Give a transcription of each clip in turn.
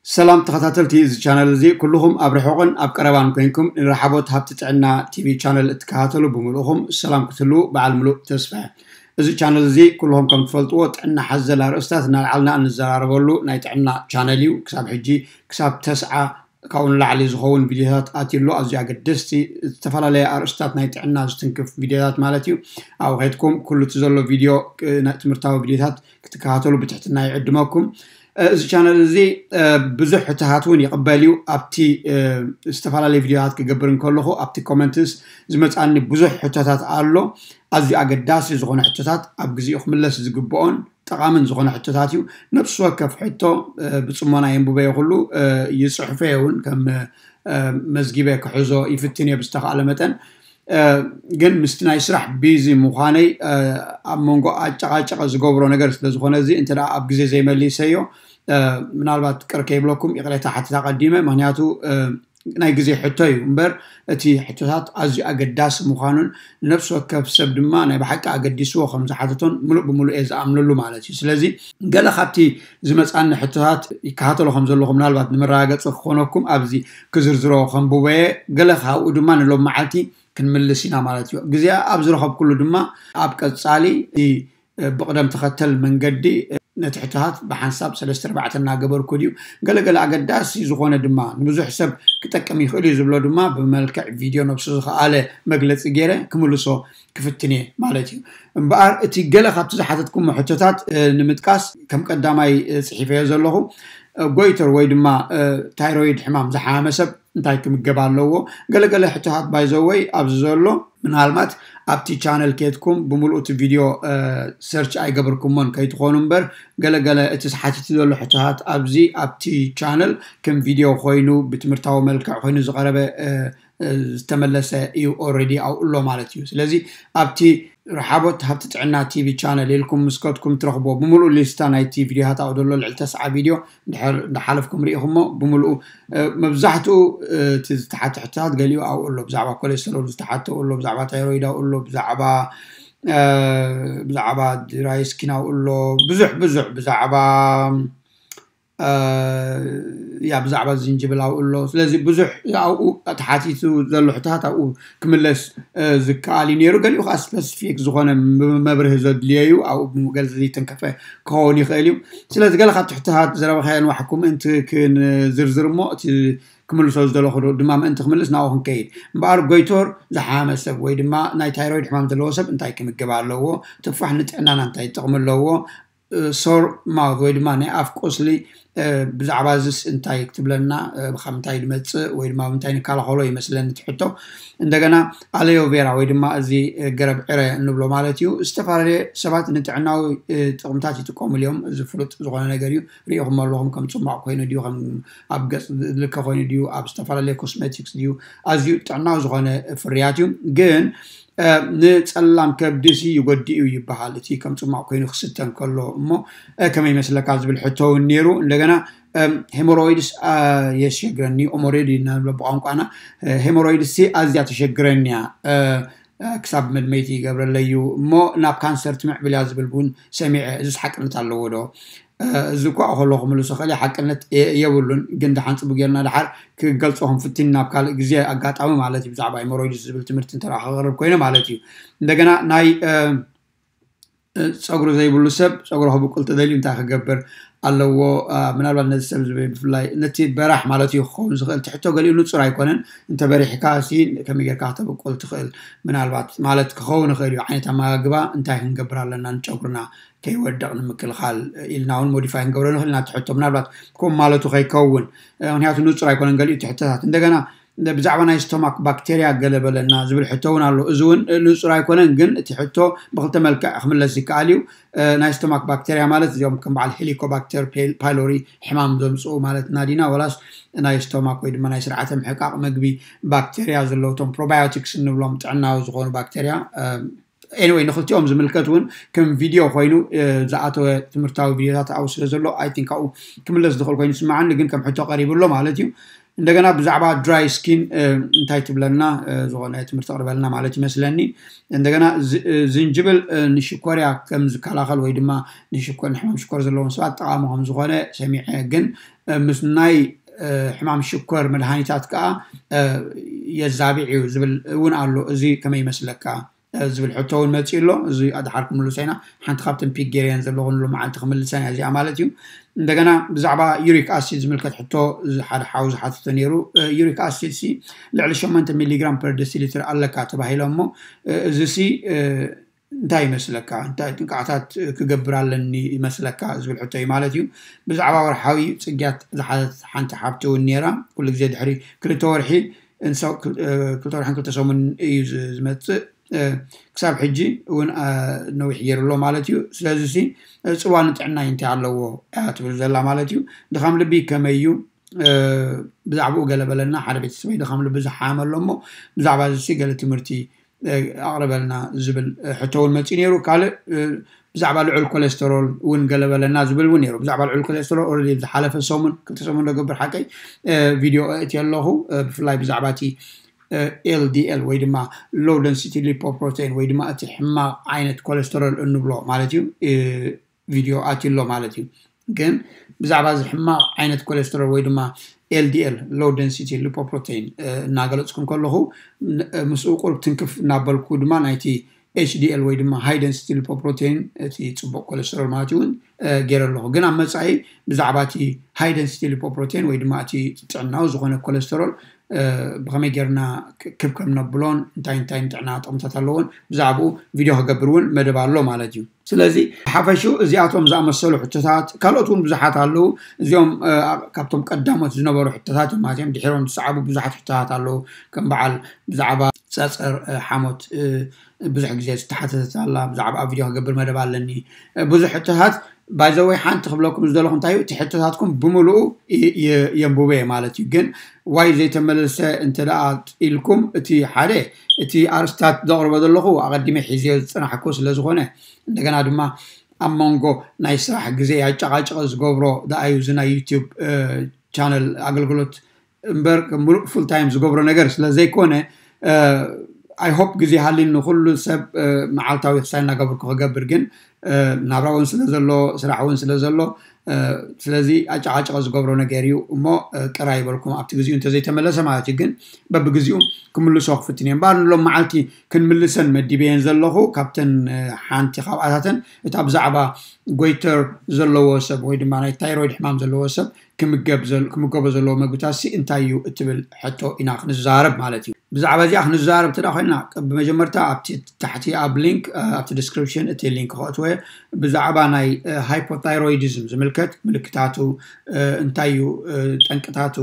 ሰላም ተኸታተልቲ እዚ ቻነል እዚ፣ ኩልኹም ኣብ ርሑቕን ኣብ ቀረባን ኮይንኩም ንረሓቦት ሃብቲ ጥዕና ቲቪ ቻነል እትከታተሉ ብምልኡኹም ሰላም ክትህልዉ በዓል ምሉእ ተስፋ እየ። እዚ ቻነል እዚ ኩልኹም ከም ትፈልጥዎ ጥዕና ሓዘል ኣርእስታት እናልዓልና እንዘራረበሉ ናይ ጥዕና ቻነል እዩ። ክሳብ ሕጂ ክሳብ ተስዓ ካብኡ ንላዕሊ ዝኸውን ቪድዮታት ኣትዩ ኣሎ። ኣዝዩ ኣገደስቲ ዝተፈላለየ ኣርእስታት ናይ ጥዕና ዝትንክፍ ቪድዮታት ማለት እዩ። ኣብኡ ከይድኩም ኩሉ እቲ ዘሎ ቪድዮ፣ እ፣ ናይ ትምህርታዊ ቪድዮታት ክትከታተሉ ብትሕትና ይዕድመኩም። እ፣ እዚ ቻነል እዚ፣ እ፣ ብዙሕ ሕቶታት እውን ይቕበል እዩ። ኣብቲ፣ እ፣ ዝተፈላለዩ ቪድዮታት ክገብር እንከለኹ ኣብቲ ኮመንትስ ዝመጻኒ ብዙሕ ሕቶታት ኣሎ። ኣዝዩ ኣገዳሲ ዝኾነ ሕቶታት ኣብ ግዜኡ ክምለስ ዝግብኦን ጠቓምን ዝኾነ ሕቶታት እዩ። ነፍሲ ወከፍ ሕቶ፣ እ፣ ብጽሞና የንብበዮ ኩሉ፣ እ፣ ይጽሕፈዮ እውን ከም፣ እ፣ መዝጊበ ክሕዞ ይፍትን እየ ብዝተኻእለ መጠን። እ፣ ግን ምስቲ ናይ ስራሕ ቢዚ ምዃነይ፣ እ፣ ኣብ መንጎ ኣጨቓጨቐ ዝገብሮ ነገር ስለ ዝኾነ እዚ እንተ ደኣ ኣብ ግዜ ዘይመሊሰዮ፣ እ፣ ምናልባት ቅር ከይብለኩም ይቕሬታ ሓትት ኣቐዲመ። ምኽንያቱ፣ እ፣ ናይ ግዜ ሕቶ እዩ እምበር እቲ ሕቶታት ኣዝዩ ኣገዳሲ ምዃኑን ንነፍሲ ወከፍ ሰብ ድማ ናይ ብሓቂ ኣገዲስዎ ከም ዝሓተቶን ምሉእ ብምሉእ እየ ዝኣምነሉ ማለት እዩ። ስለዚ ገለ ካብቲ ዝመጻኒ ሕቶታት ይከታተሎ ከም ዘለኹ ምናልባት ንመረጋገጺ ክኾነኩም ኣብዚ ክዝርዝሮ ከንብቦ እየ። ገለ ካብኡ ድማ ንሎም መዓልቲ ክንምልስ ኢና ማለት እዩ። ግዜ ኣብ ዝረኸብኩሉ ድማ ኣብ ቀጻሊ እቲ ብቕደም ተኸተል መንገዲ ነቲ ሕቶታት ብሓንሳብ ሰለስተ ኣርባዕተ እናገበርኩ ድዩ፣ ገለገለ ኣገዳሲ ዝኾነ ድማ ንብዙሕ ሰብ ክጠቅም ይኽእል እዩ ዝብሎ ድማ ብመልክዕ ቪድዮ ነብሱ ዝኸኣለ መግለጺ ገይረ ክምልሶ ክፍትን እየ ማለት እዩ። እምበኣር እቲ ገለ ካብቲ ዝሓተትኩሞ ሕቶታት፣ እ፣ ንምጥቃስ ከም ቀዳማይ፣ እ፣ ጽሒፈዮ ዘለኹ፣ እ፣ ጎይተር ወይ ድማ፣ እ፣ ታይሮይድ ሕማም ዝሓመመ ሰብ እንታይ ክምገብ ኣለዎ? ገለገለ ሕቶታት ባይዘወይ ኣብዚ ዘሎ ምናልባት ኣብቲ ቻነል ኬድኩም ብምልኡ እቲ ቪድዮ፣ እ፣ ሰርች ኣይገበርኩሞን ከይትኾኑ እምበር ገለገለ እቲ ሓቲቱ ዘሎ ሕቶታት ኣብዚ ኣብቲ ቻነል ከም ቪድዮ ኮይኑ ብትምህርታዊ መልክዕ ኮይኑ ዝቐረበ፣ እ፣ እ፣ ዝተመለሰ እዩ። ኦልሬዲ ኣብኡ ኣሎ ማለት እዩ። ስለዚ ኣብቲ ረሓቦት ሃብቲ ጥዕና ቲቪ ቻነል ኢልኩም ምስ ከድኩም ትረኽብዎ ብምልኡ ሊስታ ናይቲ ቪድዮታት ኣብኡ ዘሎ ልዕሊ ተስዓ ቪድዮ እንድሕር እንዳሓለፍኩም ርኢኹሞ ብምልኡ፣ እ፣ መብዛሕትኡ፣ እ፣ እቲ ዝተሓተ ሕቶታት ገሊኡ ኣብኡ ኣሎ። ብዛዕባ ኮሌስተሮል ዝተሓተ ኣብኡ ኣሎ፣ ብዛዕባ ታይሮይድ ኣብኡ ኣሎ፣ ብዛዕባ፣ እ፣ ብዛዕባ ድራይ ስኪን ኣብኡ ኣሎ፣ ብዙሕ ብዙሕ ብዛዕባ፣ እ፣ ያ ብዛዕባ ዝንጅብል ኣብኡ ኣሎ። ስለዚ ብዙሕ ኣብኡ ተሓቲቱ ዘሎ ሕቶታት ኣብኡ ክምለስ፣ እ፣ ዝከኣል እዩ ነይሩ። ገሊኡ ከዓ ስፐሲፊክ ዝኾነ ም-፣ መብርሂ ዘድልዮ እዩ። ኣብኡ ገለ ዘይተንከፈ ክኸውን ይኽእል እዩ። ስለዚ ገለ ካብቲ ሕቶታት ዘረባኻዮ ንባዕልኩም ምእንቲ ክንዝርዝር እሞ እቲ ክምልሶ ዝደለኹ ድማ ምእንቲ ክምልስ ናብኡ ክንከይድ። እምበኣር ጎይቶር ዝሓመ ሰብ ወይ ድማ ናይ ታይሮይድ ሕማም ዘለዎ ሰብ እንታይ ክምገብ ኣለዎ? ትፋሕ ንጥዕናና እንታይ ጥቕሚ ኣለዎ? እ፣ ሶር ማውት ወይ ድማ ናይ ኣፍ ቁስሊ፣ እ፣ ብዛዕባ እዚስ እንታይ ክትብለና፣ እ፣ ካብ ምንታይ ዝመጽእ ወይ ድማ ኣብ ምንታይ ንከላኸሎ ይመስለኒ እቲ ሕቶ። እንደገና ኣሎዮ ቬራ ወይ ድማ እዚ፣ እ፣ ገረብ ዕረ እንብሎ ማለት እዩ። ዝተፈላለየ ሰባት ንጥዕናዊ፣ እ፣ ጥቕምታት ይጥቀሙሉ እዮም። እዚ ፍሉጥ ዝኾነ ነገር እዩ። ርኢኹም ኣለኹም ከም ጽማቕ ኮይኑ ድዩ፣ ከም ኣብ ገጽ ዝልከ ኮይኑ ድዩ፣ ኣብ ዝተፈላለየ ኮስሜቲክስ ድዩ፣ ኣዝዩ ጥዕናዊ ዝኾነ ፍርያት እዩ። ግን፣ እ፣ ንጸላም ከብዲ ሲ ይጎድእ እዩ ይበሃል፣ እቲ ከም ጽማቕ ኮይኑ ክስተ እንከሎ። እሞ፣ እ፣ ከመይ ይመስለካ ዝብል ሕቶ እውን ነይሩ። እንደገና፣ እም፣ ሄሞሮይድስ፣ እ፣ የሸግረኒ፣ ኦሞሬድ ኢና ንብሎ ብቋንቋና። እ፣ ሄሞሮይድስ ሲ ኣዝያ ተሸግረኒ እያ፣ እ፣ እ፣ ክሳብ መድመይቲ ይገብረለይ እዩ፣ እሞ ናብ ካንሰር ትምዕብል እያ ዝብል እውን ሰሚዐ። እዚስ ሓቅነት ኣለዎ ዶ? እ፣ እዚ እኳ ከሎ ክምልሶ ክእል እየ፣ ሓቅነት የ-፣ የብሉን፣ ግን ደሓን ጽቡቅ ጌርና ደሓር ክገልጾ ክንፍትን ናብ ካልእ ግዜ ኣጋጣሚ ማለት እዩ፣ ብዛዕባ ሄሞሮይድስ ዝብል ትምህርቲ እንተ ደኣ ከቕርብ ኮይነ ማለት እዩ። እንደገና ናይ፣ እ፣ እ፣ ጸጉሪ ዘይብሉ ሰብ ጸጉሩ ክብቁል ተደልዩ እንታይ ክገብር ኣለዎ? እ፣ ምናልባት ነዚ ሰብ ዝብል ብፍላይ ነቲ በራሕ ማለት እዩ ክኸውን ዝኽእል። እቲ ሕቶ ገሊኡ ንጹር ኣይኮነን። እንተ በሪሕካ ሲ ከመይ ጌርካ ክተብቁል ትኽእል? ምናልባት ማለት ክኸውን ይኽእል እዩ። ዓይነት ኣመጋግባ እንታይ ክንገብር ኣለና ንጨጉርና ከይወድቕ ንምክልኻል ኢልና እውን ሞዲፋይ ክንገብሮ ንኽእል ኢና። እቲ ሕቶ ምናልባት ከምኡ ማለቱ ከይከውን፣ እ፣ ምኽንያቱ ንጹር ኣይኮነን ገሊኡ እቲ ሕቶታት። እንደገና ብዛዕባ ናይ ስቶማክ ባክቴርያ ገለ በለና ዝብል ሕቶ እውን ኣሎ። እዚ እውን ንጹር ኣይኮነን፣ ግን እቲ ሕቶ ብኽልተ መልክዕ ክምለስ ይከኣል እዩ። እ፣ ናይ ስቶማክ ባክቴርያ ማለት እዚኦም ከም በዓል ሄሊኮባክተር ፔ-፣ ፓይሎሪ ሕማም ዘምጽኡ ማለትና ዲና፣ ወላስ ናይ ስቶማክ ወይ ድማ ናይ ስርዓተ ምሕቃቕ መግቢ ባክቴርያ ዘለውቶም ፕሮባዮቲክስ እንብሎም ጥዕናዊ ዝኾኑ ባክቴርያ፣ እ፣ ኤኒወይ ንኽልቲኦም ዝምልከት እውን ከም ቪድዮ ኮይኑ፣ እ፣ ዝኣተወ ትምህርታዊ ቪድዮታት ኣብኡ ስለ ዘሎ፣ ኣይ ቲንክ ኣብኡ ክምለስ ዝኽእል ኮይኑ ይስምዓኒ፣ ግን ከም ሕቶ ቀሪቡ ኣሎ ማለት እዩ። እንደገና ብዛዕባ dry skin እንታይ ትብለና? ዝኾነ ትምህርቲ ኣቕርበልና ማለት ይመስለኒ። እንደገና ዝንጅብል ንሽኮርያ ከም ዝከላኸል ወይ ድማ ንሽኮር ንሕማም ሽኮር ዘለዎም ሰባት ጠቓሚ ከም ዝኾነ ሰሚዐ፣ ግን ምስ ናይ ሕማም ሽኮር መድሃኒታት ከዓ የዛብዕ እዩ ዝብል እውን ኣሎ። እዚ ከመይ ይመስለካ ዝብል ሕቶ እውን መፂኡ ኣሎ። እዚ ኣድሓር ክምልሶ ኢና። ሓንቲ ካብተን ፒክ ገይረየን ዘለኹ ንሎማዓንቲ ክምልሰን እያ እዚኣ ማለት እዩ። እንደገና ብዛዕባ ዩሪክ ኣሲድ ዝምልከት ሕቶ ሓደ ሓው ዝሓተቶ ነይሩ። ዩሪክ ኣሲድ ሲ ልዕሊ ሸሞንተ ሚሊግራም per deciliter ኣለካ ተባሂሎ እሞ እዚ ሲ እንታይ ይመስለካ? እንታይ ጥንቃቕታት ክገብር ኣለኒ ይመስለካ ዝብል ሕቶ እዩ ማለት እዩ። ብዛዕባ ወርሓዊ ፅግያት ዝሓተት ሓንቲ ሓብቲ እውን ነይራ። ኩሉ ግዜ ድሕሪ ክልተ ወርሒ ክልተ ወርሕን ክልተ ሰሙን እዩ ዝመፅእ። ክሳብ ሕጂ እውን ነዊሕ ገይሩ ኣሎ ማለት እዩ። ስለዚ ሲ ፅልዋ ንጥዕናይ እንታይ ኣለዎ እያ ትብል ዘላ ማለት እዩ። ድኻም ልቢ ከመይ እዩ? ብዛዕባኡ ገለ በለና። ሓደ ቤተሰበይ ድኻም ልቢ ዝሓመ ኣሎ እሞ ብዛዕባ እዚ ሲ ገለ ትምህርቲ ኣቕርበልና ዝብል ሕቶ እውን መፂኡ ነይሩ። ካልእ ብዛዕባ ልዑል ኮሌስተሮል እውን ገለ በለና ዝብል እውን ነይሩ። ብዛዕባ ልዑል ኮሌስተሮል ኦልሬዲ ዝሓለፈ ሰሙን ክልተ ሰሙን ዘገብር ሓቀይ ቪድዮ እቲ ኣለኹ። ብፍላይ ብዛዕባ እቲ ኤልዲኤል ወይ ድማ low density lipoprotein ወይ ድማ እቲ ሕማቕ ዓይነት ኮሌስተሮል እንብሎ ማለት እዩ ቪድዮ ኣትዩ ኣሎ ማለት እዩ። ግን ብዛዕባ እዚ ሕማቕ ዓይነት ኮሌስተሮል ወይ ድማ ኤልዲኤል low density lipoprotein እናገለፅኩ ከለኹ ምስኡ ቁሩብ ትንክፍ እናበልኩ ድማ ናይቲ ኤችዲኤል ወይ ድማ high density lipoprotein እቲ ፅቡቕ ኮሌስተሮል ማለት እውን ገይረ ኣለኹ። ግን ኣብ መፃኢ ብዛዕባ እቲ high density lipoprotein ወይ ድማ እቲ ጥዕናዊ ዝኾነ ኮሌስተሮል ብኸመይ ጌርና ክብ ከም ነብሎን እንታይ እንታይ ንጥዕና ጥቕምታት ኣለዎን ብዛዕባኡ ቪድዮ ክገብር እውን መደብ ኣሎ ማለት እዩ። ስለዚ ሓፈሹ እዚኣቶም ዝኣመሰሉ ሕቶታት ካልኦት እውን ብዙሓት ኣለዉ። እዚኦም ካብቶም ቀዳሞት ዝነበሩ ሕቶታት እዮም ማለት እዮም። ድሒሮም ዝሰዓቡ ብዙሓት ሕቶታት ኣለዉ። ከም በዓል ብዛዕባ ፀፀር ሓሞት ብዙሕ ግዜ ዝተሓተተት ኣላ። ብዛዕባ ኣብ ቪድዮ ክገብር መደብ ኣለኒ ብዙሕ ሕቶታት ባይዘወይ ሓንቲ ክብለኩም ዝደለኹ እንታይ እዩ እቲ ሕቶታትኩም ብምሉኡ የንብቦ እየ ማለት እዩ። ግን ዋይ ዘይተመለሰ እንተ ደኣ ኢልኩም እቲ ሓደ እቲ ኣርስታት ዘቕርቦ ዘለኹ ኣቐዲመ ሒዝዮ ዝፅናሕኩ ስለ ዝኾነ እንደገና ድማ ኣብ መንጎ ናይ ስራሕ ግዜ ኣጨቓጭቐ ዝገብሮ ደኣ እዩ እዚ ናይ ዩቲዩብ ቻነል ኣገልግሎት እምበር ሙሉእ ፉል ታይም ዝገብሮ ነገር ስለ ዘይኮነ I hope ግዜ ሃልኒ ንኩሉ ሰብ መዓልታዊ ክሳይ እናገበርኩ ክገብር ግን ናብራ እውን ስለ ዘሎ ስራሕ እውን ስለ ዘሎ ስለዚ ኣጨቃጨቀ ዝገብሮ ነገር እዩ እሞ ቅር ኣይበልኩም ኣብቲ ግዜኡ እንተዘይተመለሰ ማለት እዩ ግን በብግዜኡ ክምልሶ ክፍትን እየ እምበኣር ንሎም መዓልቲ ክንምልሰን መዲበየን ዘለኹ ካብተን ሓንቲ ካብኣታተን እታ ብዛዕባ ጎይተር ዘለዎ ሰብ ወይ ድማ ናይ ታይሮይድ ሕማም ዘለዎ ሰብ ክምገብ ዘል- ክምገቦ ዘለዎ መግብታት ሲ እንታይ እዩ እትብል ሕቶ ኢና ክንዛረብ ማለት እዩ። ብዛዕባ እዚኣ ክንዛረብ እንተ ኮይና ብመጀመርታ ኣብቲ ታሕቲ ኣብ ሊንክ ኣብቲ ዲስክሪፕሽን እቲ ሊንክ ከእትወ ብዛዕባ ናይ ሃይፖታይሮይዲዝም ዝምልከት ምልክታቱ እንታይ እዩ ጠንቅታቱ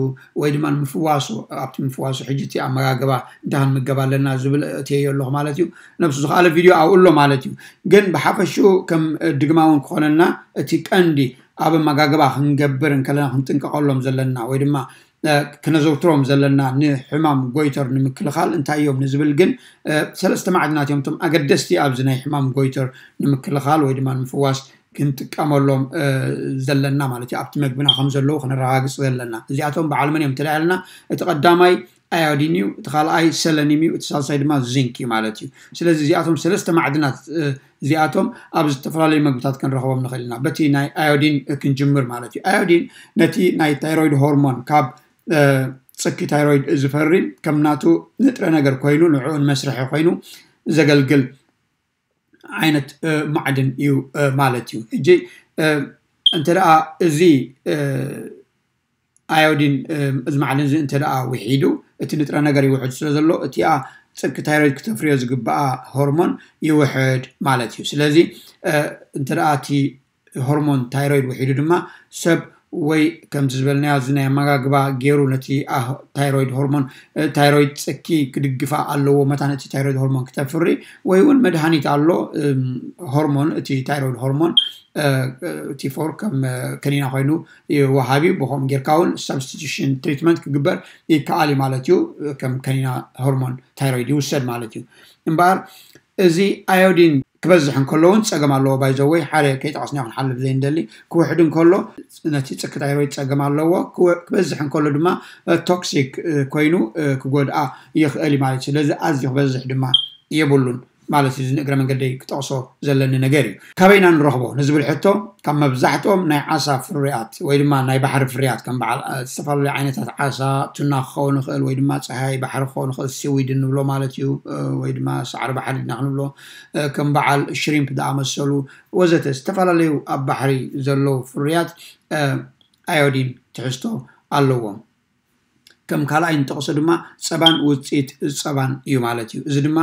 ወይ ድማ ንምፍዋሱ ኣብቲ ምፍዋሱ ሕጂ እቲ ኣመጋግባ እንታይ ክንምገብ ኣለና ዝብል እትየዮ ኣለኹ ማለት እዩ። ነብሱ ዝኸኣለ ቪድዮ ኣብኡ ኣሎ ማለት እዩ። ግን ብሓፈሽኡ ከም ድግማ እውን ክኾነና እቲ ቀንዲ ኣብ ኣመጋግባ ክንገብር እንከለና ክንጥንቀቐሎም ዘለና ወይ ድማ ክነዘውትሮም ዘለና ንሕማም ጎይተር ንምክልኻል እንታይ እዮም ንዝብል ግን ሰለስተ ማዕድናት እዮም እቶም ኣገደስቲ ኣብዚ ናይ ሕማም ጎይተር ንምክልኻል ወይ ድማ ንምፍዋስ ክንጥቀመሎም ዘለና ማለት እዩ ኣብቲ መግብና ከም ዘለዉ ክነረጋግፅ ዘለና እዚኣቶም በዓል መን እዮም ተዳያልና እቲ ቀዳማይ ኣዮዲን እዩ እቲ ካልኣይ ሰለኒም እዩ እቲ ሳልሳይ ድማ ዚንክ እዩ ማለት እዩ ስለዚ እዚኣቶም ሰለስተ ማዕድናት እዚኣቶም ኣብ ዝተፈላለዩ መግብታት ክንረኽቦም ንኽእል ኢና በቲ ናይ ኣዮዲን ክንጅምር ማለት እዩ ኣዮዲን ነቲ ናይ ታይሮይድ ሆርሞን ካብ ፅኪ ታይሮይድ ዝፈሪ ከም ናቱ ንጥረ ነገር ኮይኑ ንዕኡ ንመስርሒ ኮይኑ ዘገልግል ዓይነት ማዕድን እዩ ማለት እዩ ሕጂ እንተ ደኣ እዚ ኣዮዲን እዚ ማዕድን እዚ እንተ ደኣ ውሒዱ እቲ ንጥረ ነገር ይውሕድ ስለ ዘሎ እቲኣ ፅኪ ታይሮይድ ክተፍርዮ ዝግበኣ ሆርሞን ይውሕድ ማለት እዩ ስለዚ እንተ ደኣ እቲ ሆርሞን ታይሮይድ ውሒዱ ድማ ሰብ ወይ ከምቲ ዝበልናዮ እዚ ናይ ኣመጋግባ ገይሩ ነቲ ታይሮይድ ሆርሞን ታይሮይድ ፅኪ ክድግፋ ኣለዎ መታን እቲ ታይሮይድ ሆርሞን ክተፍሪ ወይ እውን መድሃኒት ኣሎ ሆርሞን እቲ ታይሮይድ ሆርሞን ቲፎር ከም ከኒና ኮይኑ ወሃቢ ብከምኡ ጌርካ እውን ሳብስቲቱሽን ትሪትመንት ክግበር ይከኣል እዩ ማለት እዩ ከም ከኒና ሆርሞን ታይሮይድ ይውሰድ ማለት እዩ እምበኣር እዚ ኣዮዲን ክበዝሕ እንከሎ እውን ጸገም ኣለዎ። ባይዘወይ ሓደ ከይጠቐስናዮ ክንሓልፍ ዘይንደሊ፣ ክውሕድ እንከሎ ነቲ ጽኪ ታይሮይድ ጸገም ኣለዎ። ክበዝሕ እንከሎ ድማ ቶክሲክ ኮይኑ ክጎድኣ ይኽእል እዩ ማለት እዩ። ስለዚ ኣዝዩ ክበዝሕ ድማ የብሉን ማለት እዩ። እዚ ንእግረ መንገደይ ክጠቕሶ ዘለኒ ነገር እዩ። ካበይና ንረኽቦ ንዝብል ሕቶ፣ ካብ መብዛሕትኦም ናይ ዓሳ ፍርያት ወይ ድማ ናይ ባሕሪ ፍርያት፣ ከም በዓል ዝተፈላለዩ ዓይነታት ዓሳ፣ ቱና ክኸውን ይኽእል ወይ ድማ ጸሃይ ባሕሪ ክኸውን ይኽእል፣ ሲዊድ እንብሎ ማለት እዩ፣ ወይ ድማ ሳዕሪ ባሕሪ ድና ክንብሎ፣ ከም በዓል ሽሪምፕ ዝኣመሰሉ ወዘተ ዝተፈላለዩ ኣብ ባሕሪ ዘለዉ ፍርያት ኣዮዲን ትሕዝቶ ኣለዎም። ከም ካልኣይ እንጠቕሶ ድማ ጸባን ውፅኢት ጸባን እዩ ማለት እዩ። እዚ ድማ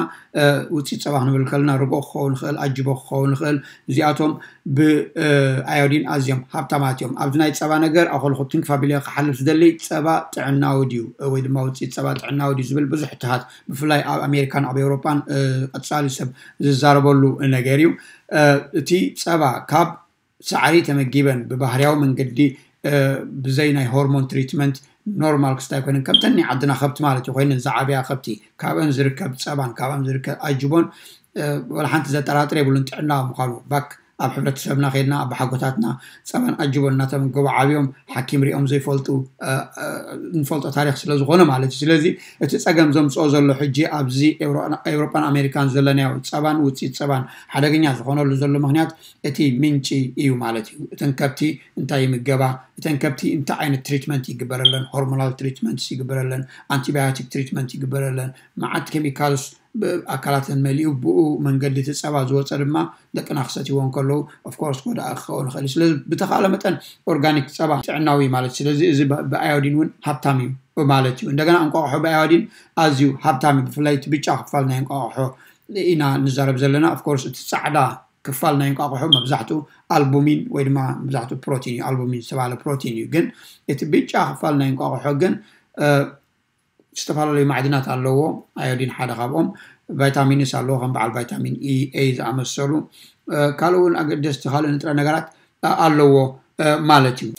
ውፅኢት ጸባ ክንብል ከለና ርጎ ክኸውን ይኽእል፣ ኣጅቦ ክኸውን ይኽእል። እዚኣቶም ብኣዮዲን ኣዝዮም ሃብታማት እዮም። ኣብዚ ናይ ጸባ ነገር ኣኸልኩ ትንክፍ ኣቢለ ክሓልፍ ዝደሊ፣ ጸባ ጥዕናዊ ድዩ ወይ ድማ ውፅኢት ጸባ ጥዕናዊ ድዩ ዝብል ብዙሕ ትሃት፣ ብፍላይ ኣብ ኣሜሪካን ኣብ ኤውሮጳን ቀጻሊ ሰብ ዝዛረበሉ ነገር እዩ። እቲ ጸባ ካብ ሳዕሪ ተመጊበን ብባህርያዊ መንገዲ ብዘይ ናይ ሆርሞን ትሪትመንት ኖርማል ክስታይ ኮይነን፣ ከምተን ናይ ዓድና ከብቲ ማለት እዩ ኮይነን ዝዓብያ ከብቲ፣ ካብአን ዝርከብ ጸባን ካብአን ዝርከብ ኣጅቦን ወላ ሓንቲ ዘጠራጥር የብሉን ጥዕና ምዃኑ። ባክ ኣብ ሕብረተሰብና ከድና ኣባሓጎታትና ጸባን ኣጅቦን እናተመገቡ ዓብዮም ሓኪም ሪኦም ዘይፈልጡ ንፈልጦ ታሪክ ስለዝኾነ ማለት እዩ። ስለዚ እቲ ጸገም ዘምፅኦ ዘሎ ሕጂ ኣብዚ ኤውሮጳን ኣሜሪካን ዘለናዮ ጸባን ውፅኢት ጸባን ሓደገኛ ዝኾነሉ ዘሎ ምክንያት እቲ ምንጪ እዩ ማለት እዩ። እተን ከብቲ እንታይ ይምገባ፣ እተን ከብቲ እንታይ ዓይነት ትሪትመንት ይግበረለን፣ ሆርሞናል ትሪትመንት ይግበረለን፣ ኣንቲባዮቲክ ትሪትመንት ይግበረለን፣ መዓት ኬሚካልስ ኣካላተን መሊኡ ብኡ መንገዲ እቲ ጸባ ዝወፀ ድማ ደቅና ክሰትይዎ እንከለዉ ኦፍኮርስ ጎዳኢ ክኸውን ይኽእል እዩ። ስለዚ ብተኻእለ መጠን ኦርጋኒክ ጸባ ጥዕናዊ ማለት፣ ስለዚ እዚ ብኣዮዲን እውን ሃብታም እዩ ማለት እዩ። እንደገና እንቋቑሖ ብኣዮዲን ኣዝዩ ሃብታም እዩ። ብፍላይ እቲ ብጫ ክፋል ናይ እንቋቑሖ ኢና ንዛረብ ዘለና። ኦፍኮርስ እቲ ጻዕዳ ክፋል ናይ እንቋቑሖ መብዛሕትኡ ኣልቡሚን ወይ ድማ መብዛሕትኡ ፕሮቲን እዩ፣ ኣልቡሚን ዝተባሃለ ፕሮቲን እዩ። ግን እቲ ብጫ ክፋል ናይ እንቋቑሖ ግን ዝተፈላለዩ ማዕድናት ኣለዎ። ኣዮዲን ሓደ ካብኦም፣ ቫይታሚንስ ኣለዎ ከም በዓል ቫይታሚን ኢ ኤ ዝኣመሰሉ፣ ካልእ እውን ኣገደስቲ ካልእ ንጥረ ነገራት ኣለዎ ማለት እዩ።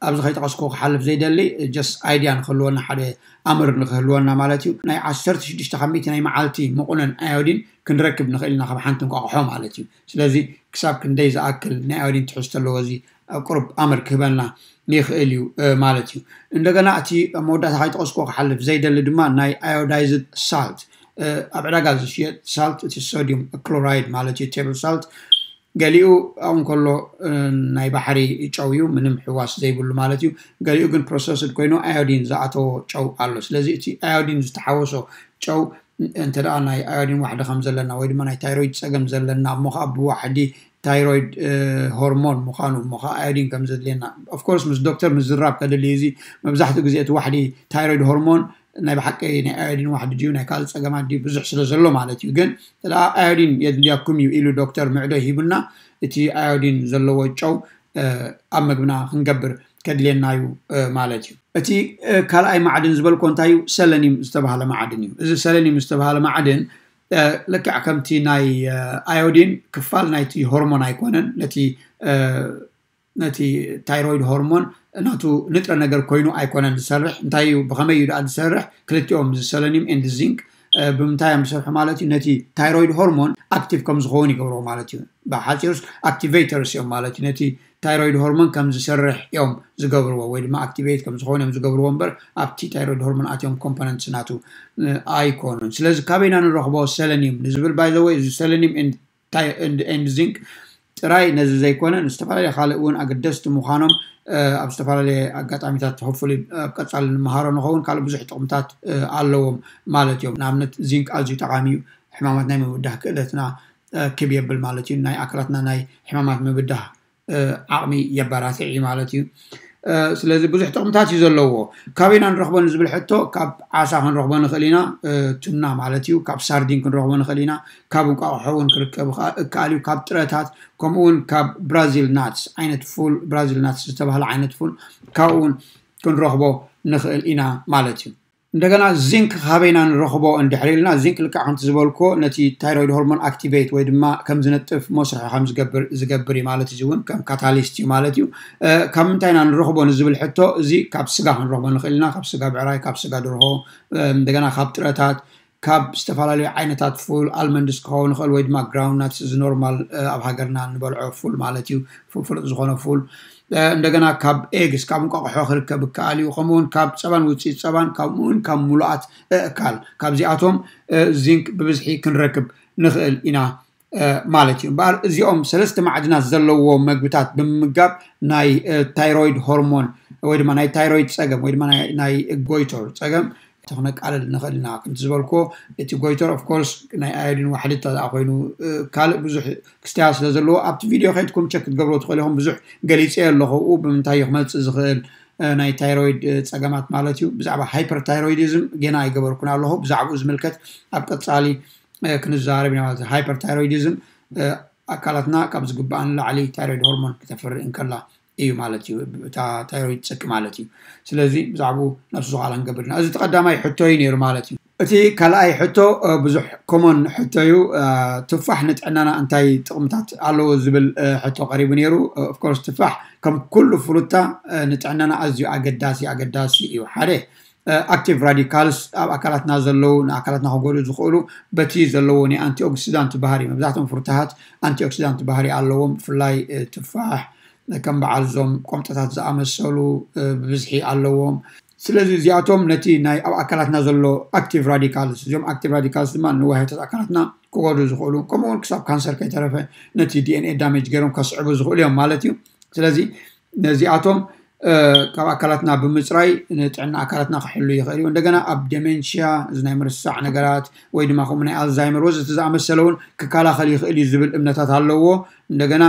ኣብዚ ከይጠቐስኩ ክሓልፍ ዘይደሊ ጀስት ኣይድያ ንክህልወና፣ ሓደ ኣምር ንክህልወና ማለት እዩ። ናይ ዓሰርተ ሽዱሽተ ካብ ሚእቲ ናይ መዓልቲ መቑነን ኣዮዲን ክንረክብ ንኽእል ኢና ካብ ሓንቲ እንቋቑሖ ማለት እዩ። ስለዚ ክሳብ ክንደይ ዝኣክል ናይ ኣዮዲን ትሕዝቶ ኣለዎ እዚ ቁሩብ ኣምር ክህበና ይኽእል እዩ ማለት እዩ። እንደገና እቲ ኣብ መወዳእታ ከይጠቐስኩ ክሓልፍ ዘይደሊ ድማ ናይ ኣዮዳይዝድ ሳልት፣ ኣብ ዕዳጋ ዝሽየጥ ሳልት፣ እቲ ሶዲየም ክሎራይድ ማለት እዩ፣ ቴብል ሳልት፣ ገሊኡ ኣብኡ እንከሎ ናይ ባሕሪ ጨው እዩ፣ ምንም ሕዋስ ዘይብሉ ማለት እዩ። ገሊኡ ግን ፕሮሰስድ ኮይኑ ኣዮዲን ዝኣተዎ ጨው ኣሎ። ስለዚ እቲ ኣዮዲን ዝተሓወሶ ጨው እንተ ደኣ ናይ ኣዮዲን ዋሕዲ ከም ዘለና ወይ ድማ ናይ ታይሮይድ ጸገም ዘለና እሞ ከዓ ብዋሕዲ ታይሮይድ ሆርሞን ምዃኑ እሞ ከዓ ኣዮዲን ከም ዘድልየና ኦፍኮርስ ምስ ዶክተር ምዝራብ ከድሊ እዩ። እዚ መብዛሕትኡ ግዜ እቲ ዋሕዲ ታይሮይድ ሆርሞን ናይ ብሓቂ ናይ ኣዮዲን ዋሕዲ ድዩ ናይ ካልእ ጸገማት ድዩ ብዙሕ ስለ ዘሎ ማለት እዩ። ግን እንተ ደኣ ኣዮዲን የድልያኩም እዩ ኢሉ ዶክተር ምዕዶ ሂቡና፣ እቲ ኣዮዲን ዘለዎ ጨው ኣብ መግብና ክንገብር ከድልየና እዩ ማለት እዩ። እቲ ካልኣይ ማዕድን ዝበልኮ እንታይ እዩ? ሰለኒም ዝተባሃለ ማዕድን እዩ። እዚ ሰለኒም ዝተባሃለ ማዕድን ልክዕ ከምቲ ናይ ኣዮዲን ክፋል ናይቲ ሆርሞን ኣይኮነን። ነቲ ነቲ ታይሮይድ ሆርሞን ናቱ ንጥረ ነገር ኮይኑ ኣይኮነን ዝሰርሕ። እንታይ እዩ፣ ብኸመይ እዩ ደኣ ዝሰርሕ? ክልቲኦም፣ እዚ ሰለኒም ኤንድ ዚንክ፣ ብምንታይ እዮም ዝሰርሑ ማለት እዩ? ነቲ ታይሮይድ ሆርሞን ኣክቲቭ ከም ዝኸውን ይገብርዎ ማለት እዩ። ብሓፂሩስ ኣክቲቬተርስ እዮም ማለት እዩ። ነቲ ታይሮይድ ሆርሞን ከም ዝሰርሕ እዮም ዝገብርዎ ወይ ድማ ኣክቲቬት ከም ዝኸውን እዮም ዝገብርዎ እምበር ኣብቲ ታይሮይድ ሆርሞን ኣትዮም ኮምፖነንትስ ናቱ ኣይኮኑን። ስለዚ ካበይና ንረኽቦ ሰለኒም ንዝብል፣ ባይዘወይ፣ እዚ ሰለኒም ኤንድ ዚንክ ጥራይ ነዚ ዘይኮነ ንዝተፈላለየ ካልእ እውን ኣገደስቲ ምዃኖም ኣብ ዝተፈላለየ ኣጋጣሚታት ሆፍሊ ኣብ ቀፃሊ ንምሃሮ ንኸውን። ካልእ ብዙሕ ጥቕምታት ኣለዎም ማለት እዮም። ንኣብነት ዚንክ ኣዝዩ ጠቓሚ እዩ። ሕማማት ናይ ምብዳህ ክእለትና ክብ የብል ማለት እዩ። ናይ ኣካላትና ናይ ሕማማት ምብዳህ ዓቕሚ የበራትዕ እዩ ማለት እዩ። ስለዚ ብዙሕ ጥቕምታት እዩ ዘለዎ። ካበይና ንረኽቦ ንዝብል ሕቶ፣ ካብ ዓሳ ክንረኽቦ ንኽእል ኢና፣ ቱና ማለት እዩ። ካብ ሳርዲን ክንረኽቦ ንኽእል ኢና። ካብ እንቋቑሖ እውን ክርከብ እከኣል እዩ። ካብ ጥረታት፣ ከምኡ እውን ካብ ብራዚል ናትስ ዓይነት ፉል፣ ብራዚል ናትስ ዝተባህለ ዓይነት ፉል፣ ካብኡ እውን ክንረኽቦ ንኽእል ኢና ማለት እዩ። እንደገና ዚንክ ካበይና ንረኽቦ እንድሕር ኢልና፣ ዚንክ ልክዕ ከምቲ ዝበልኮ ነቲ ታይሮይድ ሆርሞን ኣክቲቬት ወይ ድማ ከም ዝነጥፍ መስርሒ ከም ዝገብር ዝገብር እዩ ማለት እዩ። እውን ከም ካታሊስት እዩ ማለት እዩ። ካብ ምንታይ ኢና ንረኽቦ ንዝብል ሕቶ፣ እዚ ካብ ስጋ ክንረኽቦ ንኽእል ኢና። ካብ ስጋ ብዕራይ፣ ካብ ስጋ ደርሆ፣ እንደገና ካብ ጥረታት፣ ካብ ዝተፈላለዩ ዓይነታት ፉል፣ ኣልመንድስ ክኸውን ይኽእል ወይ ድማ ግራውንድ ናትስ፣ እዚ ኖርማል ኣብ ሃገርና እንበልዖ ፉል ማለት እዩ። ፍሉጥ ዝኾነ ፉል። እንደገና ካብ ኤግስ፣ ካብ እንቋቑሖ ክርከብ ይከኣል እዩ። ከምኡውን ካብ ፀባን ውፅኢት ፀባን፣ ከምኡውን ካብ ሙሉኣት ኣእካል፣ ካብዚኣቶም ዚንክ ብብዝሒ ክንረክብ ንኽእል ኢና ማለት እዩ። እምበኣር እዚኦም ሰለስተ ማዕድናት ዘለዎ መግብታት ብምምጋብ ናይ ታይሮይድ ሆርሞን ወይ ድማ ናይ ታይሮይድ ፀገም ወይ ድማ ናይ ጎይቶር ፀገም ክነቃልል ንኽእል ኢና። ከምቲ ዝበልኩዎ፣ እቲ ጎይቶር ኦፍኮርስ ናይ ኣዮዲን ዋሕዲ እንተ ኮይኑ፣ ካልእ ብዙሕ ክስተያ ስለ ዘለዎ ኣብቲ ቪድዮ ከይድኩም ቸክ ክትገብሮ ትኽእሉ ኢኹም። ብዙሕ ገሊፀ ኣለኹ፣ ብምንታይ እዩ ክመፅእ ዝኽእል ናይ ታይሮይድ ፀገማት ማለት እዩ። ብዛዕባ ሃይፐርታይሮይዲዝም ገና ኣይገበርኩን ኣለኹ። ብዛዕባኡ ዝምልከት ኣብ ቀፃሊ ክንዛረብ ኢና ማለት እዩ። ሃይፐርታይሮይዲዝም ኣካላትና ካብ ዝግባእ ንላዕሊ ታይሮይድ ሆርሞን ክተፍሪ እንከላ እዩ ማለት እዩ። እታ ታይሮይድ ፅቂ ማለት እዩ። ስለዚ ብዛዕባኡ ነብሱ ዝኸኣላ ክንገብር ኢና። እዚ እቲ ቀዳማይ ሕቶ እዩ ነይሩ ማለት እዩ። እቲ ካልኣይ ሕቶ ብዙሕ ኮሞን ሕቶ እዩ። ትፋሕ ንጥዕናና እንታይ ጥቕምታት ኣለዎ ዝብል ሕቶ ቀሪቡ ነይሩ። ኦፍኮርስ ትፋሕ ከም ኩሉ ፍሩታ ንጥዕናና ኣዝዩ ኣገዳሲ ኣገዳሲ እዩ። ሓደ ኣክቲቭ ራዲካልስ ኣብ ኣካላትና ዘለዉ ንኣካላትና ክጎድኡ ዝኽእሉ በቲ ዘለዎ ናይ ኣንቲኦክሲዳንት ባህሪ፣ መብዛሕትኦም ፍሩታሃት ኣንቲኦክሲዳንት ባህሪ ኣለዎም። ብፍላይ ትፋሕ ከም በዓል እዞም ቆምጠታት ዝኣመሰሉ ብብዝሒ ኣለዎም። ስለዚ እዚኣቶም ነቲ ናይ ኣብ ኣካላትና ዘሎ ኣክቲቭ ራዲካልስ፣ እዚኦም ኣክቲቭ ራዲካልስ ድማ ንዋህዮታት ኣካላትና ክጎድኡ ዝኽእሉ፣ ከምኡውን ክሳብ ካንሰር ከይተረፈ ነቲ ዲኤንኤ ዳሜጅ ገይሮም ከስዕቡ ዝኽእሉ እዮም ማለት እዩ። ስለዚ ነዚኣቶም ካብ ኣካላትና ብምፅራይ ንጥዕና ኣካላትና ክሕሉ ይኽእል እዩ። እንደገና ኣብ ደሜንሽያ፣ እዚ ናይ ምርሳዕ ነገራት ወይ ድማ ከምኡ ናይ ኣልዛይመር ወዘተ ዝኣመሰለ እውን ክከላኸል ይኽእል እዩ ዝብል እምነታት ኣለዎ። እንደገና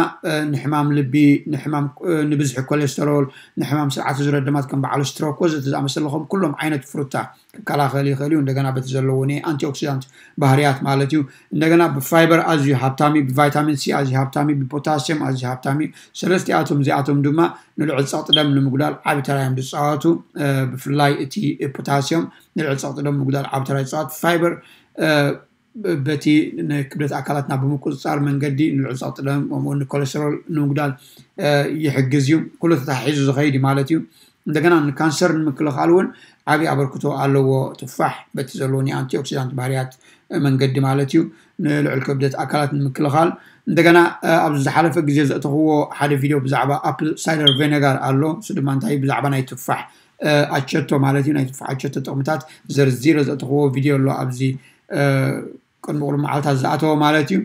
ንሕማም ልቢ፣ ንሕማም ንብዝሒ ኮሌስተሮል፣ ንሕማም ስርዓተ ዝረ ደማት ከም በዓል ስትሮክ ወዘተ ዝኣመሰለ ከም ኩሎም ዓይነት ፍሩታ ክከላኸል ይኽእል እዩ። እንደገና በቲ ዘለዎ ናይ ኣንቲኦክሲዳንት ባህርያት ማለት እዩ። እንደገና ብፋይበር ኣዝዩ ሃብታሚ፣ ብቫይታሚን ሲ ኣዝዩ ሃብታሚ፣ ብፖታሲየም ኣዝዩ ሃብታሚ እዩ። ሰለስቲኣቶም እዚኣቶም ድማ ንልዑል ፀቕጢ ደም ንምጉዳል ዓቢ ተራ እዮም ዝፃወቱ። ብፍላይ እቲ ፖታሲየም ንልዑል ፀቕጢ ደም ምጉዳል ዓቢ ተራ ይፃወት። ፋይበር በቲ ንክብደት ኣካላትና ብምቁፅፃር መንገዲ ንልዑል ፀቕጢ ደም ከምኡ ንኮሌስተሮል ንምጉዳል ይሕግዝ እዩ። ኩሉ ተታሒዙ ዝኸይድ እዩ ማለት እዩ። እንደገና ንካንሰር ንምክልኻል እውን ዓብዪ ኣበርክቶ ኣለዎ። ትፋሕ በቲ ዘለዎ ናይ ኣንቲኦክሲዳንት ባህርያት መንገዲ ማለት እዩ፣ ንልዑል ክብደት ኣካላት ንምክልኻል። እንደገና ኣብዚ ዝሓለፈ ግዜ ዘእተኽዎ ሓደ ቪድዮ ብዛዕባ ኣፕል ሳይደር ቬነጋር ኣሎ። እሱ ድማ እንታይ ብዛዕባ ናይ ትፋሕ ኣቸቶ ማለት እዩ፣ ናይ ትፋሕ ኣቸቶ ጥቕምታት ዘርዚረ ዘእተኽዎ ቪድዮ ኣሎ ኣብዚ ቅድሚ ቁሩብ መዓልታት ዝኣተወ ማለት እዩ።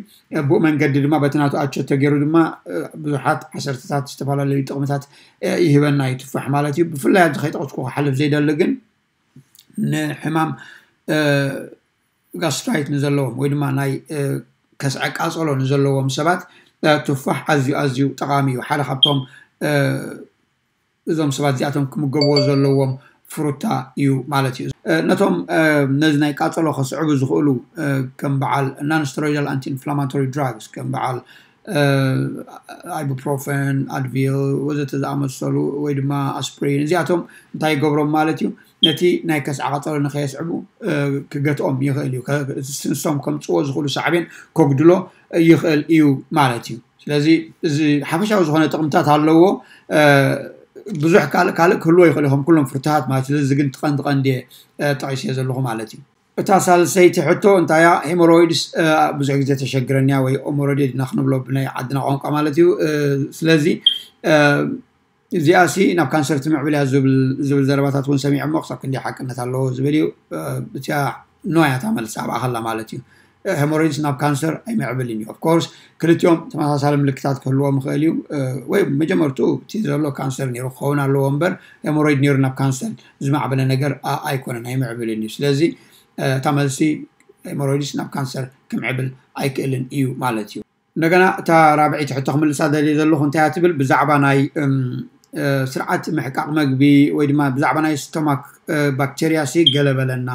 ብኡ መንገዲ ድማ በቲ ናቱ ኣቸቶ ገይሩ ድማ ብዙሓት ዓሰርተታት ዝተፈላለዩ ጥቕምታት ይህበና እዩ ትፋሕ ማለት እዩ። ብፍላይ ኣብዚ ከይጠቕስኩ ክሓልፍ ዘይደሊ ግን ንሕማም ጋስትራይት ንዘለዎም ወይ ድማ ናይ ከስዐ ቃፀሎ ንዘለዎም ሰባት ትፋሕ ኣዝዩ ኣዝዩ ጠቓሚ እዩ። ሓደ ካብቶም እዞም ሰባት እዚኣቶም ክምገብዎ ዘለዎም ፍሩታ እዩ ማለት እዩ። ነቶም ነዚ ናይ ቃፀሎ ከስዕቡ ዝኽእሉ ከም በዓል non steroidal anti inflammatory drugs ከም በዓል ኣይቡፕሮፈን፣ ኣድቪል ወዘተ ዝኣመሰሉ ወይ ድማ ኣስፕሪን እዚኣቶም እንታይ ይገብሮም ማለት እዩ? ነቲ ናይ ከስዓ ቃፀሎ ንኸየስዕቡ ክገትኦም ይኽእል እዩ። ንሶም ከምፅዎ ዝኽእሉ ሳዕቤን ከጉድሎ ይኽእል እዩ ማለት እዩ። ስለዚ እዚ ሓፈሻዊ ዝኾነ ጥቕምታት ኣለዎ። ብዙሕ ካልእ ካልእ ክህልዎ ይኽእል እዩ ከም ኩሎም ፍርትሃት ማለት። ስለዚ ግን ትቐንዲ ቀንዲ ጠቒስዮ ዘለኹ ማለት እዩ። እታ ሳልሰይቲ ሕቶ እንታያ? ሄሞሮይድስ ብዙሕ ግዜ ተሸግረንያ ወይ ኦሞሮዴድ ኢና ክንብሎ ብናይ ዓድና ቋንቋ ማለት እዩ። ስለዚ እዚኣ ሲ ናብ ካንሰር ትምዕብል እያ ዝብል ዘረባታት እውን ሰሚዐ እሞ ክሳብ ክንደይ ሓቅነት ኣለዎ ዝብል እዩ። እቲኣ ኖ እያ እታ መልሲ ኣብኣ ከላ ማለት እዩ። ሄሞሮይድስ ናብ ካንሰር ኣይምዕብልን እዩ። ኦፍኮርስ ክልቲኦም ተመሳሳሊ ምልክታት ክህልዎም ይኽእል እዩ። ወይ መጀመርትኡ እቲ ዘሎ ካንሰር ነይሩ ክኸውን ኣለዎ እምበር ሄሞሮይድ ነይሩ ናብ ካንሰር ዝማዕበለ ነገር ኣይኮነን፣ ኣይምዕብልን እዩ። ስለዚ እታ መልሲ ሄሞሮይድስ ናብ ካንሰር ክምዕብል ኣይክእልን እዩ ማለት እዩ። እንደገና እታ ራብዒቲ ሕቶ ክምልሳ ደልየ ዘለኹ እንታይ እያ ትብል ብዛዕባ ናይ ስርዓት ምሕቃቕ መግቢ ወይ ድማ ብዛዕባ ናይ ስቶማክ ባክቴርያ ሲ ገለ በለና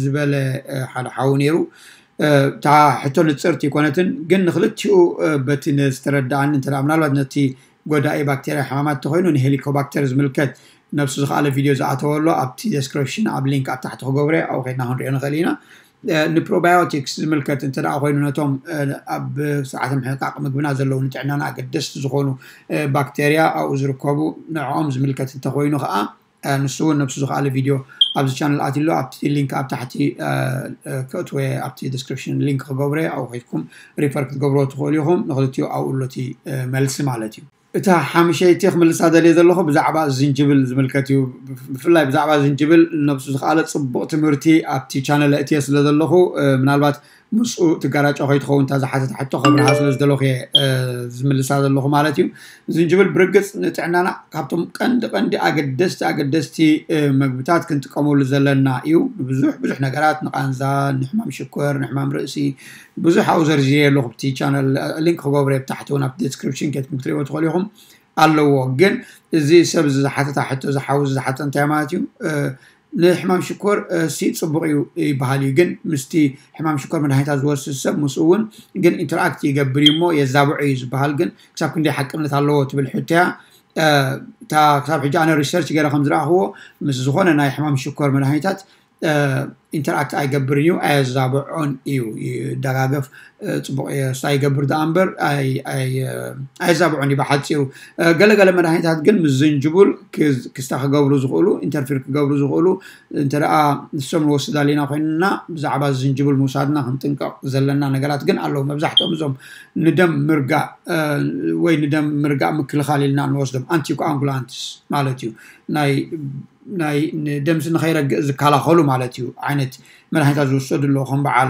ዝበለ ሓደ ሓዊ ነይሩ። እታ ሕቶ ንፅርቲ ይኮነትን ግን ንክልቲኡ በቲ ዝተረዳኣኒ እንተ ምናልባት ነቲ ጎዳኢ ባክቴርያ ሕማማት ተኮይኑ ንሄሊኮባክተር ዝምልከት ነብሱ ዝኸኣለ ቪድዮ ዝኣተወ ኣሎ ኣብቲ ዴስክሪፕሽን ኣብ ሊንክ ኣብ ታሕቲ ክገብረ ኣብኡ ከድና ክንሪኦ ንኽእል ኢና። ንፕሮባዮቲክስ ዝምልከት እንተ ደኣ ኮይኑ ነቶም ኣብ ስርዓተ ምሕቃቕ ምግብና ዘለዉ ንጥዕናና ኣገደስቲ ዝኾኑ ባክቴርያ ኣብኡ ዝርከቡ ንዕኦም ዝምልከት እንተኮይኑ ከዓ ንሱ እውን ነብሱ ዝኸኣለ ቪድዮ ኣብዚ ቻነል ኣትሎ ኣብቲ ሊንክ ኣብ ታሕቲ ክእትወ ኣብቲ ዲስክሪፕሽን ሊንክ ክገብረ ኣብኡ ከይድኩም ሪፈር ክትገብሮ ትኽእሉ ኢኹም። ንክልቲኡ ኣብኡ ኣሎ እቲ መልሲ ማለት እዩ። እታ ሓምሸይቲ ክምልሳ ደልየ ዘለኹ ብዛዕባ ዝንጅብል ዝምልከት እዩ። ብፍላይ ብዛዕባ ዝንጅብል ነብሱ ዝኸኣለ ጽቡቕ ትምህርቲ ኣብቲ ቻነል እትየ ስለ ዘለኹ ምናልባት ምስኡ ትጋራጮ ከይትኸውን እታ ዝሓተት ሕቶ ከብርሃ ስለ ዝደለኹ እየ ዝምልሳ ዘለኹ ማለት እዩ። ዝንጅብል ብርግጽ ንጥዕናና ካብቶም ቀንዲ ቀንዲ ኣገደስቲ ኣገደስቲ መግብታት ክንጥቀመሉ ዘለና እዩ። ንብዙሕ ብዙሕ ነገራት ንቃንዛ፣ ንሕማም ሽኮር፣ ንሕማም ርእሲ ብዙሕ ኣብኡ ዘርዚረ ኣለኹ። ብቲ ቻነል ሊንክ ክገብረ ብታሕቲ እውን ኣብቲ ዲስክሪፕሽን ከትኩም ክትሪእዎ ትኽእሉ ኢኹም። ኣለዎ ግን እዚ ሰብ ዝሓተታ ሕቶ ዝሓዊ ዝሓተ እንታይ ማለት እዩ? ንሕማም ሽኮር ሲ ጽቡቕ እዩ ይበሃል እዩ። ግን ምስቲ ሕማም ሽኮር መድሃኒታት ዝወስድ ሰብ ምስኡ እውን ግን ኢንተርኣክት ይገብር እዩ እሞ የዛብዖ እዩ ዝበሃል ግን ክሳብ ክንደይ ሓቅነት ኣለዎ ትብል ሕቶያ። እታ ክሳብ ሕጂ ኣነ ሪሰርች ገይረ ከም ዝረኣኽዎ ምስ ዝኾነ ናይ ሕማም ሽኮር መድሃኒታት ኢንተርኣክት ኣይገብርን እዩ፣ ኣየዛብዖን እዩ። ይደጋገፍ ጽቡቕ ስታ ይገብር ደኣ እምበር ኣየዛብዖን እዩ። ብሓፂሩ ገለገለ መድሃኒታት ግን ምስ ዝንጅቡል ክስታ ክገብሩ ዝኽእሉ ኢንተርፊር ክገብሩ ዝኽእሉ እንተ ደኣ ንሶም ንወስድ ኣሊና ኮይንና ብዛዕባ ዝንጅቡል ምውሳድና ክንጥንቀቕ ዘለና ነገራት ግን ኣለዉ። መብዛሕትኦም እዞም ንደም ምርጋእ ወይ ንደም ምርጋእ ምክልኻል ኢልና ንወስዶም ኣንቲኮኣንጉላንትስ ማለት እዩ ናይ ናይ ንደምሲ ንኸይረግእ ዝከላኸሉ ማለት እዩ ዓይነት መድሃኒታት ዝወሰዱ ኣለዉ ከም በዓል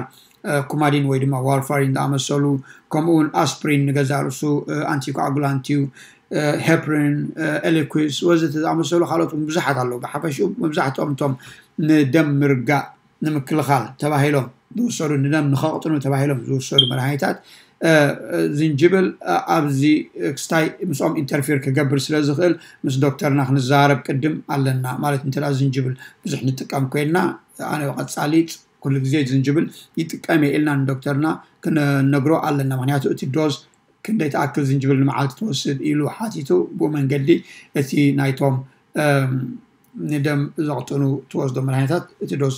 ኩማዲን ወይ ድማ ዋርፋሪን ዝኣመሰሉ ከምኡውን ኣስፕሪን ንገዛ ርእሱ ኣንቲኮኣጉላንት እዩ። ሄፕሪን፣ ኤሊኩስ ወዘተ ዝኣመሰሉ ካልኦት ብዙሓት ኣለዉ። ብሓፈሽኡ መብዛሕትኦም እቶም ንደም ምርጋእ ንምክልኻል ተባሂሎም ዝውሰዱ ንደም ንኸቕጥኑ ተባሂሎም ዝውሰዱ መድሃኒታት ዝንጅብል ኣብዚ ክስታይ ምስኦም ኢንተርፊር ክገብር ስለ ዝኽእል ምስ ዶክተርና ክንዘራረብ ቅድም ኣለና ማለት እንተ ዝንጅብል ብዙሕ ንጥቀም ኮይንና ኣነ ቀጻሊ ኩሉ ግዜ ዝንጅብል ይጥቀም እየ ኢልና ንዶክተርና ክንነግሮ ኣለና። ምክንያቱ እቲ ዶዝ ክንደይ ትኣክል ዝንጅብል ንመዓልቲ ትወስድ ኢሉ ሓቲቱ ብኡ መንገዲ እቲ ናይቶም ንደም ዘቕጥኑ ትወስዶ መድሃኒታት እቲ ዶዝ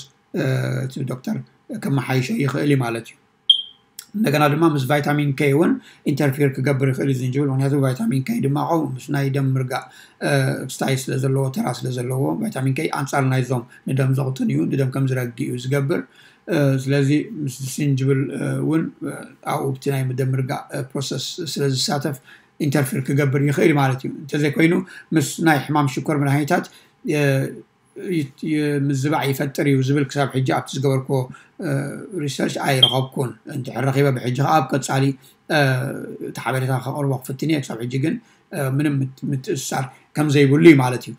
እቲ ዶክተር ከመሓይሾ ይኽእል እዩ ማለት እዩ። እንደገና ድማ ምስ ቫይታሚን ከይ እውን ኢንተርፊር ክገብር ይኽእል እዩ ዝንጅብል። ምክንያቱ ቫይታሚን ከይ ድማ ከምኡ ምስ ናይ ደም ምርጋእ ክስታይ ስለ ዘለዎ ተራ ስለ ዘለዎ ቫይታሚን ከይ ኣንጻር ናይዞም ንደም ዘቕጥን እዩ ንደም ከም ዝረግ እዩ ዝገብር። ስለዚ ምስ ዝንጅብል እውን ኣብኡ ብቲ ናይ ደም ምርጋእ ፕሮሰስ ስለ ዝሳተፍ ኢንተርፊር ክገብር ይኽእል ማለት እዩ። እንተዘይኮይኑ ምስ ናይ ሕማም ሽኮር መድሃኒታት ምዝባዕ ይፈጥር እዩ ዝብል ክሳብ ሕጂ ኣብቲ ዝገበርክዎ ሪሰርች ኣይረኸብኩን። እንድሕር ረኺበ ብሕጂ ከዓ ኣብ ቀጻሊ እቲ ሓበሬታ ከቕርቦ ክፍትን እየ። ክሳብ ሕጂ ግን ምንም ምትእስሳር ከም ዘይብሉ እዩ ማለት እዩ።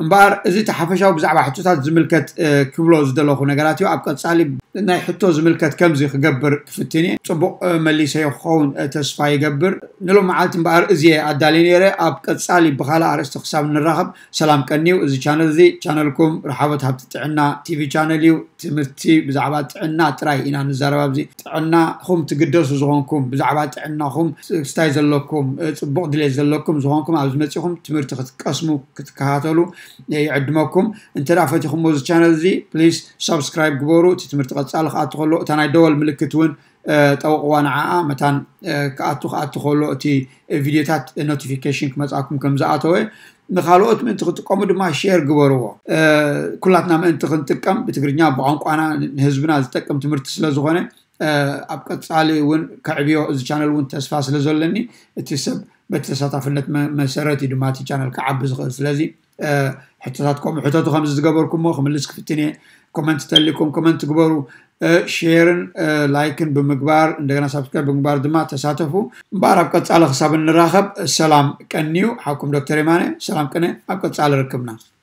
እምበኣር እዚ እቲ ሓፈሻዊ ብዛዕባ ሕቶታት ዝምልከት ክብሎ ዝደለኹ ነገራት እዩ። ኣብ ቀጻሊ ናይ ሕቶ ዝምልከት ከምዚ ክገብር ክፍትን እየ። ጽቡቕ መሊሰዮ ክኸውን ተስፋ ይገብር። ንሎም መዓልቲ እምበኣር እዚ እየ ኣዳልየ ነይረ። ኣብ ቀጻሊ ብኻልእ ኣርእስቲ ክሳብ ንራኸብ ሰላም ቀንዩ። እዚ ቻነል እዚ ቻነልኩም ረሓቦት ሃብቲ ጥዕና ቲቪ ቻነል እዩ። ትምህርቲ ብዛዕባ ጥዕና ጥራይ ኢና ንዛረብ ኣብዚ። ጥዕናኹም ትግደሱ ዝኾንኩም ብዛዕባ ጥዕናኹም ክስታይ ዘለኩም ጽቡቕ ድሌት ዘለኩም ዝኾንኩም ኣብዚ መጺኹም ትምህርቲ ክትቀስሙ ክትከታተሉ ይዕድመኩም። እንተ ደኣ ፈቲኹሞ እዚ ቻነል እዚ ፕሊስ ሳብስክራይብ ግበሩ። እቲ ትምህርቲ ቀጻሊ ክኣቱ ከሎ እታ ናይ ደወል ምልክት እውን ጠውቕዋ ንዓኣ መታን ክኣቱ ክኣቱ ከሎ እቲ ቪድዮታት ኖቲፊኬሽን ክመፅኣኩም ከም ዝኣተወ ንካልኦት ምእንቲ ክጥቀሙ ድማ ሼር ግበርዎ። ኩላትና ምእንቲ ክንጥቀም ብትግርኛ ብቋንቋና ንህዝብና ዝጠቅም ትምህርቲ ስለ ዝኾነ ኣብ ቀፃሊ እውን ከዕብዮ እዚ ቻነል እውን ተስፋ ስለ ዘለኒ እቲ ሰብ በቲ ተሳታፍነት መሰረት እዩ ድማ እቲ ቻነል ክዓቢ ዝኽእል። ስለዚ ሕቶታት ከምኡ ሕተቱ ከምዚ ዝገበርኩሞ ክምልስ ክፍትን እየ። ኮመንት ተሊኩም ኮመንት ግበሩ። ሼርን ላይክን ብምግባር እንደገና ሳብስክራይብ ብምግባር ድማ ተሳተፉ። እምበኣር ኣብ ቀፃሊ ክሳብ እንራኸብ ሰላም ቀንዩ። ሓኩም ዶክተር የማነ ሰላም ቅነ። ኣብ ቀፃሊ ርክብና።